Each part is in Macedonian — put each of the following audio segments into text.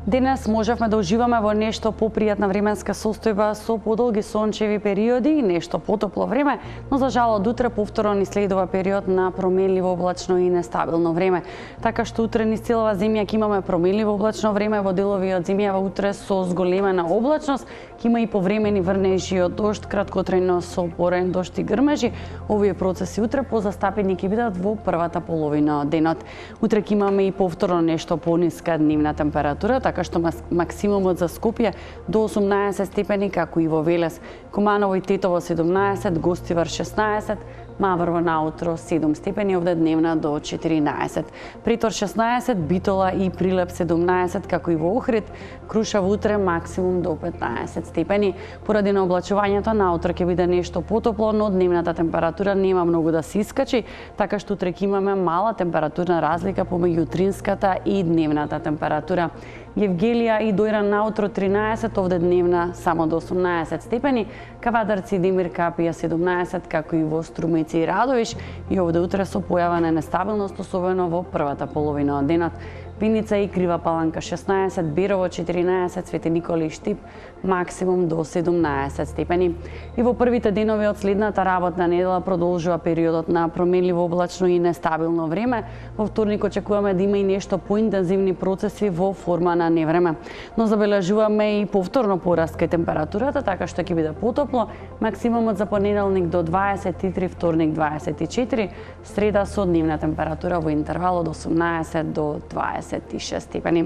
Денес можевме да уживаме во нешто попријатна временска состојба со подолги сончеви периоди и нешто потопло време, но за жал од утре повторно ни следува период на променливо облачно и нестабилно време. Така што утре низ целава земја ќе имаме променливо облачно време, во делови од земјава утре со зголемена облачност, ќе има и повремени врнежи од дожд, краткотрајно со порен дожд и грмежи. Овие процеси утре позастапени ќе бидат во првата половина од денот. Утре ќе имаме и повторно нешто пониска дневна температура, така што максимумот за Скопје до 18 степени, како и во Велес, Куманово и Тетово 17, Гостивар 16, Маврово наутро 7 степени, овде дневна до 14. Притор 16, Битола и Прилеп 17, како и во Охрид, Крушево утре максимум до 15 степени. Поради на облачувањето наутро ќе биде нешто потопло, но дневната температура нема многу да се искачи, така што утре ќе имаме мала температурна разлика помеѓу утринската и дневната температура. Евгелија и Дојран наутро 13, овде дневна само до 18 степени, Кавадарци и Демир Капија 17, како и во Струмици и Радовиш, и овде утре со појава на нестабилност, особено во првата половина од денот. Виница и Крива Паланка 16, Берово 14, Свети Николи и Штип максимум до 17 степени. И во првите денови од следната работна недела продолжува периодот на променливо облачно и нестабилно време. Во вторник очекуваме да има и нешто поинтензивни процеси во форма на невреме. Но забележуваме и повторно пораст кај температурата, така што ќе биде потопло. Максимумот за понеделник до 23, вторник 24, среда со дневна температура во интервал од 18 до 26 степени.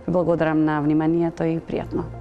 Ви благодарам на вниманието и пријатно.